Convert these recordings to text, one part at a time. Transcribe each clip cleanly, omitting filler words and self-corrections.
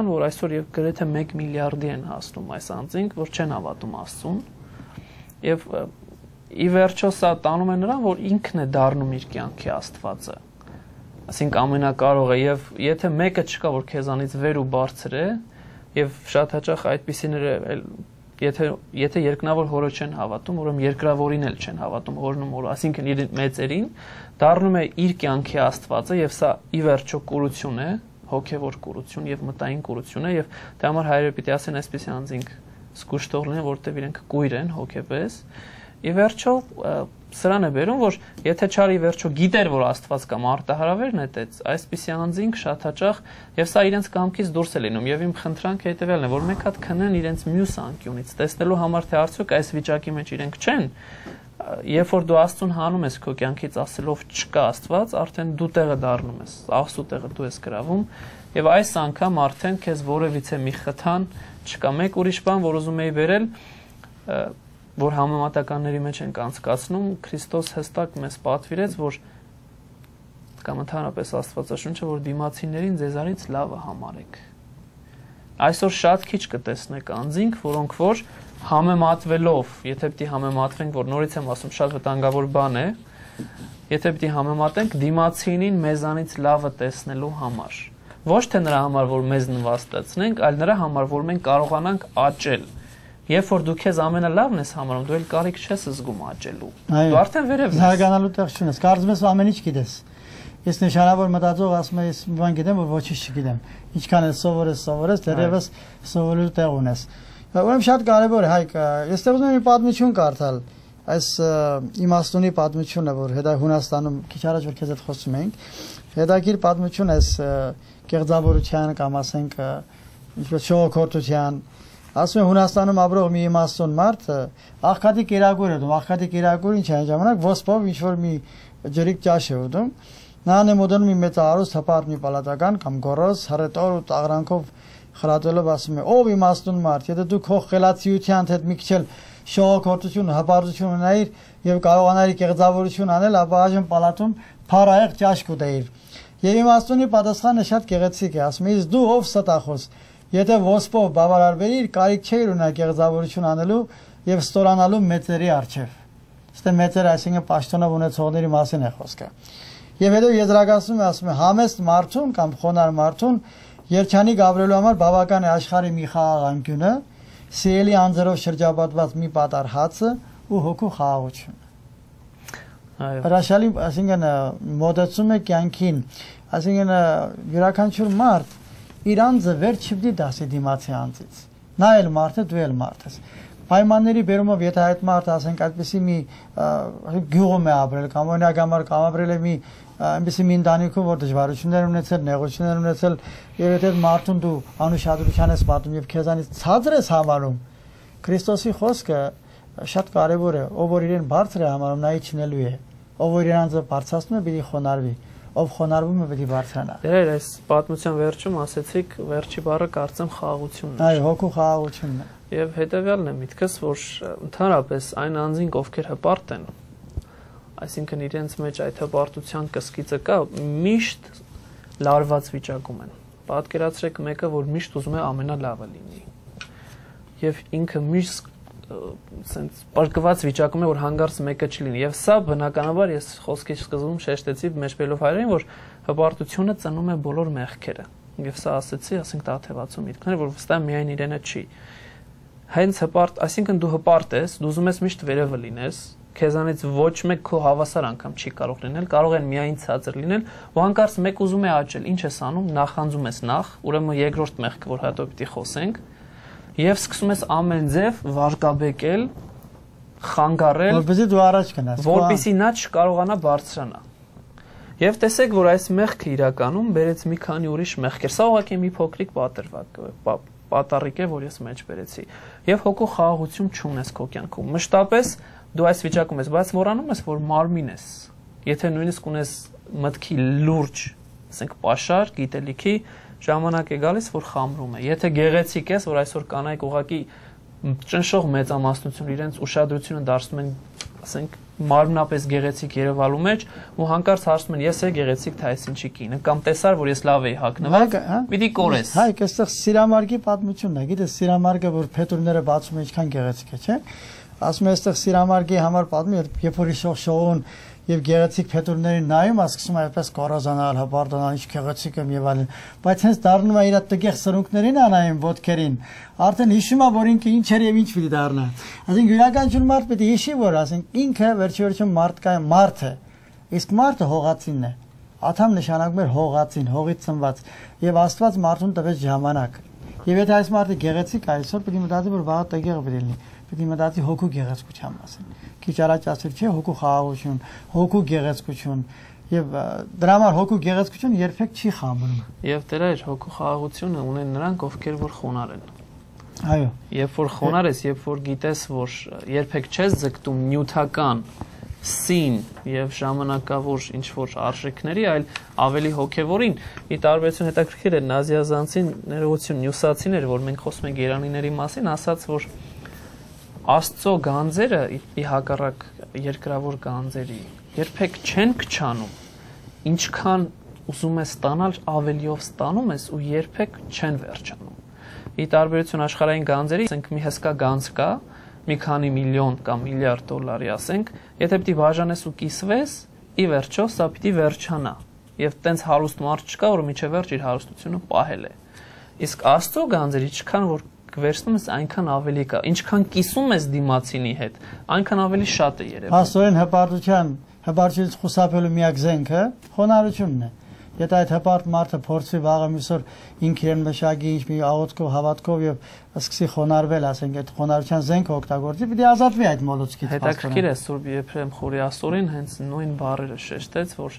որ այսօր եւ գրեթե 1 միլիարդի են հասնում այս անձինք, որ չեն հավատում Աստծուն, եւ ի վերջո սա տանում է նրան, որ ինքն է դառնում իր կյանքի Աստվածը, այսինքն ամենակարողը, եւ եթե մեկը չկա, որ քեզանից վեր ու բարձր է, եւ շատ հաճախ այդպիսիները եթե երկնավոր հորը չեն հավատում, ուրեմն երկրավորին էլ չեն հավատում հորն ու մորը, այսինքն իր մեծերին, դառնում է իր կյանքի Աստվածը, եւ սա ի վերջո կուրություն է, հոգևոր կուրություն եւ մտային կուրություն է, եւ դրա համար հայրերը պիտի ասեն այսպեսի անձինք զգուշ թող լինեն, որտեւ իրենք կույր են հոգեպես։ Ի վերջո սրան է բերում, որ եթե չար ի վերջո գիտեր, որ Աստված կա, մարտահրավեր նետեց, այսպիսի անձինք շատ հաճախ եւ սա իրենց կամքից դուրս է լինում, եւ իմ խնդրանքը հետեւյալն է, որ մեկ հատ քնեն իրենց մյուս անկյունից, տեսնելու համար թե արդյոք այս վիճակի մեջ իրենք չեն, երբ որ դու Աստծուն հանում ես քո կյանքից ասելով չկա Աստված, արդեն դու տեղը դառնում ես, Աստծո տեղը դու ես գրավում, եւ այս անգամ արդեն քեզ որևիցե մի խթան չկա։ Մեկ ուրիշ բան, որ ուզում եի վերել, որ համեմատականների մեջ ենք անցկացնում, Քրիստոս հստակ մեզ պատվիրեց, որ կամ ընդհանրապես Աստվածաշունչը, որ դիմացիներին ձեզանից լավը համարեք։ Այսօր շատ քիչ կտեսնեք անձինք, որոնք որ համեմատվելով, եթե պիտի համեմատվենք, որ նորից եմ ասում, շատ վտանգավոր բան է, եթե պիտի համեմատենք դիմացինին մեզանից լավը տեսնելու համար, ոչ թե նրա համար, որ մեզ նվաստացնենք, այլ նրա համար, որ մենք կարողանանք աճել։ Երբ որ դու քեզ ամենալավն ես համարում, դու էլ կարիք չես զգում աճելու։ Դու արդեն վերև ես։ Զարգանալու տեղ չունես, կարծում ես ամեն ինչ գիտես։ Ես նշանավոր մտածող ասում եմ, ես մի բան գիտեմ, որ ոչինչ չգիտեմ։ Ինչքան ես սովորես, դեռևս սովորելու տեղ ունես։ Ուրեմն շատ կարևոր է, Հայկ, ես ուզում եմ մի պատմություն կարդալ, այս իմաստունի պատմությունը, որ հետո Հունաստանում քիչ առաջ որ քեզ հետ խոսում ենք, հետաքրքիր պատմություն է կեղծավորության կամ ասենք ինչպես շողոքորթության, ասում եմ Հունաստանում ապրող մի իմաստուն մարդ աղքատի կերակուր է դում, աղքատի կերակուր ինչ է այն ժամանակ ոսպով ինչ որ մի ջրիկ ճաշ է ուտում, նրան է մոտենում մի մեծ արուստ հպարտ մի պալատական կամ գոռոզ հռետոր ու տաղրանքով խրատելով ասում է ով իմաստուն մարդ, եթե դու քո խելացիության հետ մի քիչ էլ շողոքորթություն, հպարտություն ունեիր եւ կարողանայիր կեղծավորություն անել, ապա այժմ պալատում փառահեղ ճաշ կուտեիր։ Եվ իմաստունի պատասխանը շատ գեղեցիկ է, ասում է իսկ դու ով ստախոս, եթե ոսպով բավարարվեիր, կարիք չէիր ունենա կեղծավորություն անելու եւ ստորանալու մեծերի առջեւ։ Ստե մեծերը այսինքն պաշտոնով ունեցողների մասին է խոսքը։ Եվ հետո եզրակացնում է, ասում է համեստ մարդուն կամ խոնար մարդուն երջանիկ գավրելու համար բավական է աշխարհի մի խաղաղ անկյունը, սիրելի անձերով շրջապատված մի պատար հացը ու հոգու խաղաղությունը։ Հրաշալի, այսինքն մոտեցում է կյանքին, այսինքն յուրաքանչյուր մարդ իր անձը վեր չպիտի դասի դիմացի անձից։ Նա էլ մարդ է, դու էլ մարդ ես։ Պայմանների բերումով եթե այդ մարդը ասենք այդպեսի մի գյուղում է ապրել կամ օրինակ համար կամ ապրել է մի այնպեսի մի ընտանիքում, որ դժվարություններ ունեցել, նեղություններ ունեցել, եւ եթե մարդուն դու անուշադրության ես պատում եւ քեզանից ցածր ես համարում, Քրիստոսի խոսքը շատ կարեւոր է, ով որ իրեն բարձր է համարում, նա իջնելու է, ով որ իրեն անձը բարձրացնում է, պիտի խոնարհվի, ով խոնարհվում է, պիտի բարձրանա։ Դեր այս պատմության վերջում ասեցիք, վերջի բառը կարծեմ խաղաղությունն է։ Այո, հոգու խաղաղությունն է։ Եվ հետեւյալն է միտքս, որ ընդհանրապես այն անձինք, ովքեր հպարտ են, այսինքն իրենց մեջ այդ հպարտության կսկիծը կա, միշտ լարված վիճակում են։ Պատկերացրեք մեկը, որ միշտ ուզում է ամենալավը լինի։ Եվ ինքը միշտ սենց պարկված վիճակում է, որ հանգարց մեկը չլինի։ Եվ սա բնականաբար ես խոսքի սկզբում շեշտեցի մեջբելով հայրեն, որ հպարտությունը ծնում է բոլոր մեղքերը։ Եվ սա ասեցի, ասենք տաթևացու միտքներ, որ վստահ միայն իրենը չի։ Հենց հպարտ, այսինքն դու հպարտ ես, դու ուզում ես միշտ վերևը լինես, քեզանից ոչ մեկ քո հավասար անգամ չի կարող լինել, կարող են միայն ցածր լինել, ու հանկարծ մեկ ուզում է աճել, ինչ ես անում, նախանձում ես նախ, ուրեմն երկրորդ մեղքը, որ հետո պիտի խոսենք, եւ սկսում ես ամեն ձև վարկաբեկել, խանգարել, որպեսզի դու առաջ գնաս, որպեսզի նա չկարողանա բարձրանա։ Եվ տեսեք, որ այս մեղքը իրականում բերեց մի քանի ուրիշ մեղքեր, սա ուղղակի մի փոքրիկ պատառիկ է, որ ես մեջ բերեցի։ Եվ հոգու խաղաղություն չունես քո կյանքում։ Մշտապես դու այս վիճակում ես, բայց մոռանում ես, որ մարմին ես։ Եթե նույնիսկ ունես մտքի լուրջ, ասենք պաշար, գիտելիքի, ժամանակ է գալիս, որ խամրում է։ Եթե գեղեցիկ ես, որ այսօր կանայք ուղղակի ճնշող մեծամասնություն իրենց ուշադրությունը դարձնում են, ասենք, մարմնապես գեղեցիկ Երևալու մեջ ու հանկարծ հարցնում են ես է գեղեցիկ թե այս ինչի կինը կամ տեսար որ ես լավ էի հագնված պիտի կորես հայք այստեղ Սիրամարգի պատմությունն է գիտես Սիրամարգը որ փետուրները բացում է ինչքան գեղեցիկ է չէ ասում է այստեղ Սիրամարգի համար պատմում երբ որ շողշողուն եւ գեղեցիկ փետուրներին նայում ասում այդպես կորոզանալ հպարտանալ ինչ գեղեցիկ եմ եւ այլն բայց հենց դառնում է իր տգեղ սրունքներին անայում ոտքերին արդեն հիշում է որ ինքը ինչ էր եւ ինչ պիտի դառնա այսինքն յուրաքանչյուր մարդ պիտի հիշի որ ասենք ինքը վերջիորիչում մարդ է իսկ մարդը հողացինն է աթամ նշանակում է հողացին հողից ծնված եւ Աստված մարդուն տվեց ժամանակ եւ եթե այս մարդը գեղեցիկ այսօր պիտի մտածի որ վաղը տգեղ պիտի լինի պիտի մտածի հոգու գեղեցկության մասին քիչ առաջ ասել չէ հոգու խաղաղություն հոգու գեղեցկություն եւ դրա համար հոգու գեղեցկությունը երբեք չի խամբնում եւ դրա իր հոգու խաղաղությունը ունեն նրանք ովքեր որ խոնար են այո երբ որ խոնար ես երբ որ գիտես որ երբեք չես ձգտում նյութական սին եւ ժամանակավոր ինչ որ արժեքների այլ ավելի հոգեվորին ի տարբերություն հետաքրքիր է նազիազանցին ներողություն նյուսացին էր որ մենք խոսում ենք երանիների մասին ասաց որ Աստծո գանձերը ի հակառակ երկրավոր գանձերի երբեք չեն քչանում ինչքան ուզում ես ստանալ ավելիով ստանում ես ու երբեք չեն վերջանում ի տարբերություն աշխարհային գանձերի ասենք մի հսկա գանձ կա մի քանի միլիոն կամ միլիարդ դոլարի ասենք եթե պիտի բաժանես ու կիսվես ի վերջո սա պիտի վերջանա եւ տենց հարուստ մարդ չկա որ միջև վերջ իր հարստությունը պահել է իսկ Աստծո գանձերի չքան որ վերցնում ես այնքան ավելի կա ինչքան կիսում ես դիմացինի հետ այնքան ավելի շատ է երևում Աստորեն հպարտությունից խուսափելու միակ զենքը խոնարհությունն է եթե այդ հպարտ մարդը փորձի վաղը միսօր ինքն մշակի ինչ մի աղոթքով հավատքով եւ սկսի խոնարհվել ասենք այդ խոնարհության զենքը օգտագործի պիտի ազատվի այդ մոլուցքից հետաքրքիր է Սուրբ Եփրեմ Խորիասորին հենց նույն բառերը շեշտեց որ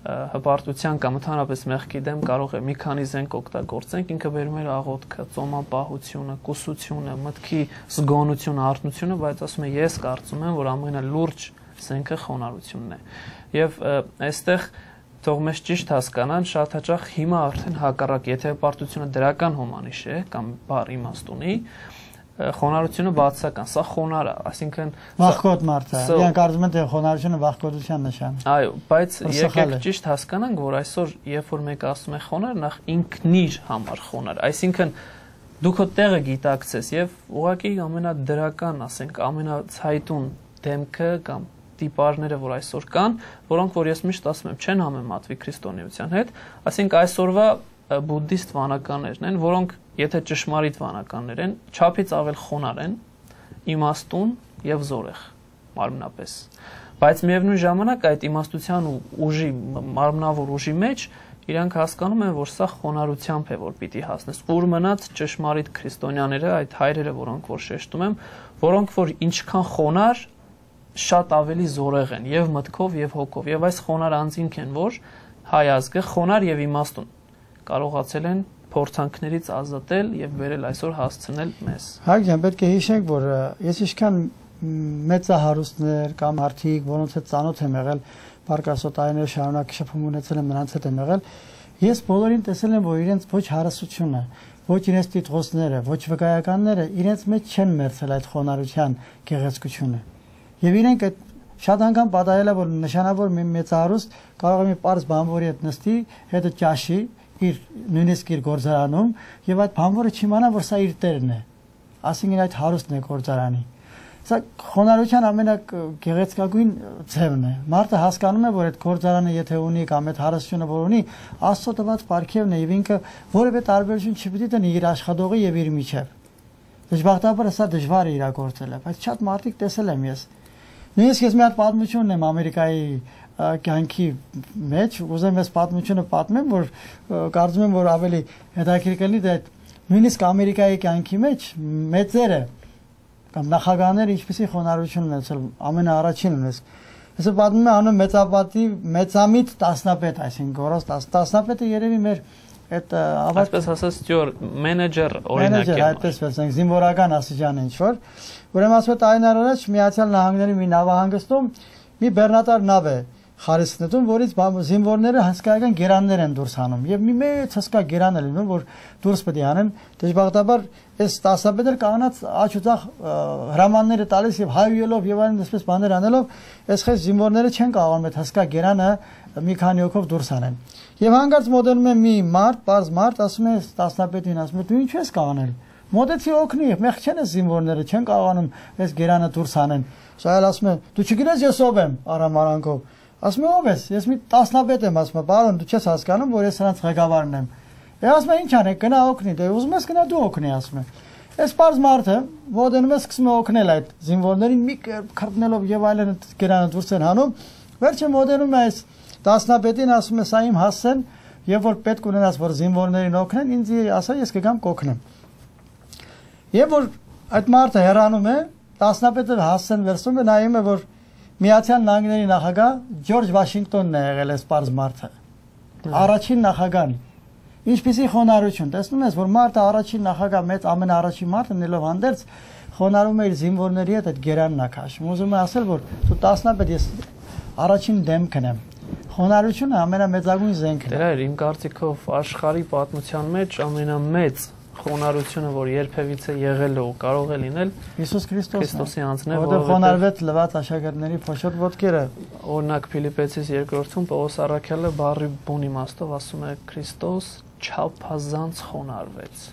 հպարտության կամ ընդհանրապես մեղքի դեմ կարող է մի քանի զենք օգտագործենք ինքը վերում է աղոթքը, ծոմապահությունը, կուսությունը, մտքի զգոնությունը, արթնությունը, բայց ասում է ես կարծում եմ, որ ամենալուրջ զենքը խոնարհությունն է։ Եվ այստեղ թող մեզ ճիշտ հասկանան, շատ հաճախ հիմա արդեն հակառակ, եթե հպարտությունը դրական հոմանիշ է կամ բառ իմաստ ունի, խոնարհությունը բացական, սա խոնար է, այսինքն վախկոտ մարդ է։ Իրանք կարծում են թե խոնարհությունը վախկոտության նշան է։ Այո, բայց եկեք ճիշտ հասկանանք, որ այսօր երբ որ մեկը ասում է խոնար, նախ ինքնիր համար խոնար, այսինքն դու քո տեղը գիտակցես եւ ուղղակի ամենադրական, ասենք, ամենացայտուն դեմքը կամ տիպարները, որ այսօր կան, որոնք որ ես միշտ ասում եմ, չեն համեմատվի քրիստոնեության հետ, այսինքն այսօրվա բուդդիստ վանականներն են, որոնք եթե ճշմարիտ վանականներ են, չափից ավել խոնար են, իմաստուն եւ զորեղ մարմնապես։ Բայց միևնույն ժամանակ այդ իմաստության ու ուժի մարմնավոր ուժի մեջ իրանք հասկանում են, որ սա խոնարհությամբ է, որ պիտի հասնես։ Ուր մնաց ճշմարիտ քրիստոնյաները, այդ հայրերը, որոնք որ շեշտում եմ, որոնք որ ինչքան խոնար, շատ ավելի զորեղ են եւ մտքով եւ հոգով։ Եվ այս խոնար անձինք են, որ հայ ազգը խոնար եւ իմաստուն կարողացել են փորձանքներից ազատել եւ վերել այսօր հասցնել մեզ։ Հայկ ջան, պետք է հիշենք, որ ես ինչքան մեծահարուստներ կամ արդիկ, որոնց հետ ծանոթ եմ եղել, բարգասոտայիններ շարունակ շփում ունեցել եմ, նրանց հետ եմ եղել, ես բոլորին տեսել եմ, որ իրենց ոչ հարստությունը, ոչ իրենց տիտղոսները, ոչ վկայականները իրենց մեջ չեն մերցել այդ խոնարհության գեղեցկությունը։ Եվ իրենք այդ շատ անգամ պատահել է, որ նշանավոր մի մեծահարուստ կարող է մի պարզ բանվորի հետ նստի, հետո ճաշի իր նույնիսկ իր գործարանում եւ այդ բանվորը չիմանա որ սա իր տերն է ասինքն այդ հարուստն է գործարանի սա խոնարհության ամենագեղեցկագույն ձևն է մարդը հասկանում է որ այդ գործարանը եթե ունի կամ այդ հարստությունը որ ունի Աստծո տված պարգևն է եւ ինքը որևէ տարբերություն չպիտի տնի իր աշխատողի եւ իր միջև դժբախտաբար սա դժվար է իրագործել բայց շատ մարդիկ տեսել եմ ես նույնիսկ ես մի հատ պատմություն ունեմ Ամերիկայի կյանքի մեջ ուզեմ ես պատմությունը պատմեմ որ կարծում եմ որ ավելի հետաքրքիր կլինի դա նույնիսկ Ամերիկայի կյանքի մեջ մեծերը կամ նախագահները ինչպեսի խոնարհություն ունեցել ամենաառաջին ունես հեսա պատմում է անուն մեծապատի մեծամիտ տասնապետ այսինքն գորոս տասնապետը երևի մեր այդ այսպես ասած ստյուար մենեջեր օրինակ է այդպես ասենք զինվորական աստիճան ինչ որ ուրեմն ասում է տարիներ առաջ Միացյալ Նահանգների մի նավահանգստում մի բեռնատար նավ է խարիսնետում, որից զինվորները հսկայական գերաններ են դուրս հանում եւ մի մեծ հսկա գերան է լինում, որ դուրս պետք է անեն, դժբախտաբար այս տասնապետեր կանած աչուծախ հրամանները տալիս եւ հայույելով եւ այլն այսպես բաներ անելով, այս խես զինվորները չեն կարողանում այդ հսկա գերանը մի քանի օքով դուրս անեն։ Եվ հանկարծ մոտենում է մի մարդ, պարզ մարդ, ասում է տասնապետին, ասում է դու ինչ ես կանել։ Մոտեցի օգնի, մեղ չեն այս զինվորները, չեն կարողանում այս գերանը դուրս անեն։ Սա էլ ասում է դու չգիտես ես ով եմ, արամարանքով։ Ասում է ով ես, ես մի տասնապետ եմ, ասում է բարոն դու չես հասկանում, որ ես նրանց ղեկավարն եմ։ Ասում է ինչ անեք, գնա օգնի, դե ուզում ես գնա դու օգնի, ասում է։ Այս պարզ մարդը մոտենում է սկսում է օգնել այդ զինվորներին մի քրտնելով եւ այլն գերանը դուրս են հանում։ Վերջը մոտենում է այս տասնապետին, ասում է սա իմ հասցեն, եւ որ պետք ունենաս որ զինվորներին օգնեն, ինձ ասա ես կգամ կօգնեմ։ Եվ որ այդ մարդը հեռանում է, տասնապետը հասցեն վերցնում է, նայում է որ Միացյալ Նահանգների նախագահ Ջորջ Վաշինգտոնն է եղել այս պարզ մարդը։ Առաջին նախագահն։ Ինչպիսի խոնարհություն, տեսնում ես որ մարդը առաջին նախագահ մեծ ամենաառաջին մարդը նելով հանդերձ խոնարհում է իր զինվորների հետ այդ գերանն է քաշում։ Ուզում է ասել որ դու տասնապետ ես առաջին դեմքն եմ։ Խոնարհությունը ամենամեծագույն զենքն է։ Դեր իմ կարծիքով աշխարհի պատմության մեջ ամենամեծ խոնարհությունը, որ երբևիցե եղել է ու կարող է լինել Հիսուս Քրիստոսի անձն է, որովհետև խոնարհվեց լվաց աշակերտների փոշոտ ոտքերը։ Օրինակ Ֆիլիպպեցիս 2-ում Պողոս առաքյալը բառի բուն իմաստով ասում է Քրիստոս չափազանց խոնարհվեց։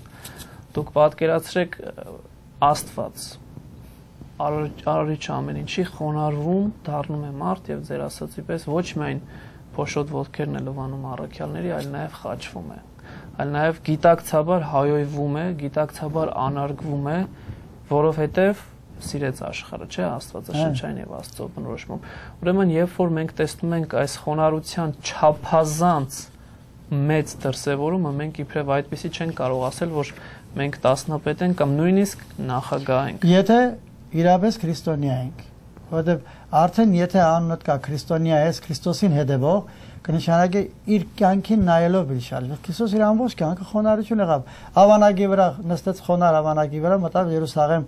Դուք պատկերացրեք Աստված արարիչ ամեն ինչի խոնարհվում դառնում է մարդ եւ ձեր ասածի պես ոչ միայն փոշոտ ոտքերն է լվանում առաքյալների, այլ նաեւ խաչվում է, այլ նաեւ գիտակցաբար հայոյվում է, գիտակցաբար անարգվում է, որովհետեւ սիրեց աշխարհը, չէ, Աստվածաշնչային եւ Աստծո բնորոշմամբ։ Ուրեմն երբ որ մենք տեսնում ենք այս խոնարհության չափազանց մեծ դրսևորումը, մենք իբրև այդպեսի չենք կարող ասել, որ մենք տասնապետ ենք կամ նույնիսկ նախագահ ենք։ Եթե իրապես քրիստոնյա ենք, որովհետև արդեն եթե անունդ կա քրիստոնյա ես, Քրիստոսին հետևող, կնշանակի իր կյանքին նայելով իր շարժ։ Քրիստոս իր ամբողջ կյանքը խոնարհություն եղավ։ Ավանագի վրա նստեց խոնարհ ավանագի վրա, մտավ Երուսաղեմ,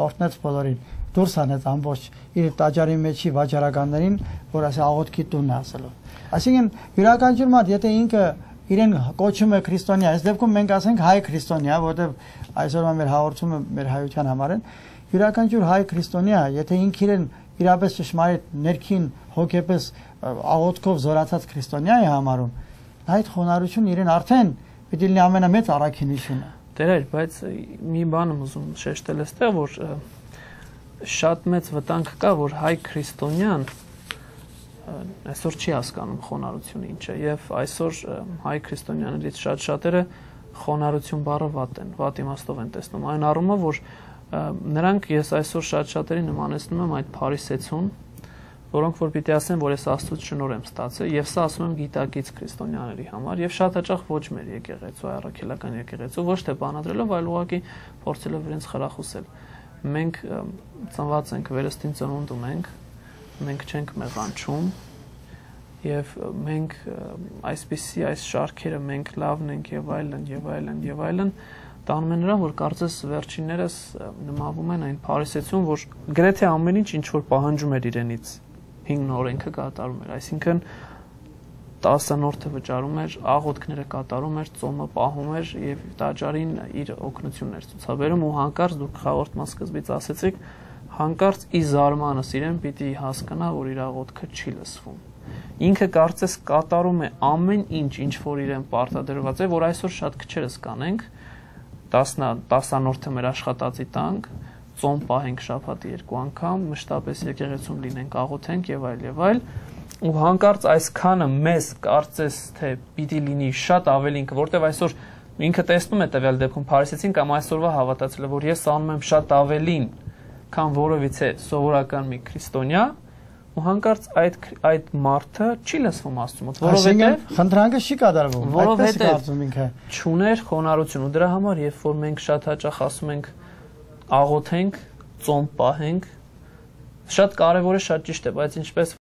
օրհնեց բոլորին, դուրս անեց ամբողջ իր տաճարի մեջի վաճառականներին, որ ասի աղոթքի տունն ասելով։ Այսինքն յուրաքանչյուր մարդ, եթե ինքը իրեն կոչում է քրիստոնյա, այս դեպքում մենք ասենք հայ քրիստոնյա, որովհետև այսօրվա մեր հաղորդումը մեր հայության համար են, յուրաքանչյուր հայ քրիստոնյա, եթե ինքը իրեն իրապես ճշմարիտ ներքին հոգեպես աղոթքով զորացած քրիստոնյա է համարում, այդ խոնարհությունը իրեն արդեն պիտի լինի ամենամեծ առաքինությունը։ Տեր, բայց մի բան եմ ուզում շեշտել այստեղ, որ շատ մեծ վտանգ կա, որ հայ քրիստոնյան այսօր չի հասկանում խոնարհությունը ինչ է, եւ այսօր հայ քրիստոնյաներից շատ-շատերը խոնարհություն բառը վատ իմաստով են տեսնում, այն առումով, որ նրանք ես այսօր շատ-շատերի նմանեցնում եմ այդ փարիսեցուն, որոնք որ պիտի ասեն, որ ես Աստծուց շնորհ եմ ստացել, եւ սա ասում եմ գիտակից քրիստոնյաների համար, եւ շատ հաճախ ոչ մեր եկեղեցու, առաքելական եկեղեցու, ոչ թե բանադրելով, այլ ուղղակի փորձելով իրենց խրախուսել։ Մենք ծնված ենք վերստին ծնունդում մենք չենք մեղանչում եւ մենք այսպիսի այս շարքերը մենք լավն ենք եւ այլն տանում են նրան, որ կարծես վերջիններս նմանվում են այն փարիսեցուն, որ գրեթե ամեն ինչ որ պահանջում էր իրենից հինգ օրենքը կատարում էր, այսինքն 10-րդը վճարում էր, աղոթքները կատարում էր, ծոմը պահում էր եւ տաճարին իր օգնությունն էր ցուցաբերում ու հանկարծ դուք խաղորդման սկզբից ասեցիք, հանկարծ ի զարմանս իրեն պիտի հասկանա, որ իր աղոթքը չի լսվում։ Ինքը կարծես կատարում է ամեն ինչ որ իրեն պարտադրված է, որ այսօր շատ քչերս կանենք, 10-րդը մեր աշխատածի տանք, ծոմ պահենք շաբաթի 2 անգամ, մշտապես եկեղեցում լինենք, աղոթենք եւ այլ, ու հանկարծ այսքանը մեզ կարծես թե պիտի լինի շատ ավելին, որտեվ այսօր ինքը տեսնում է տվյալ դեպքում փարիսեցին կամ այսօրվա հավատացել, որ ես անում եմ շատ ավելին, քան որովից է սովորական մի քրիստոնյա, ու հանկարծ այդ մարդը չի լսվում Աստծու մոտ, որովհետև խնդրանքը չի կատարվում, այդպես է կարծում ինքը։ Չուներ խոնարհություն ու դրա համար, երբ որ մենք շատ հաճախ ասում ենք աղոթենք, ծոմ պահենք, շատ կարևոր է, շատ ճիշտ է, բայց ինչպես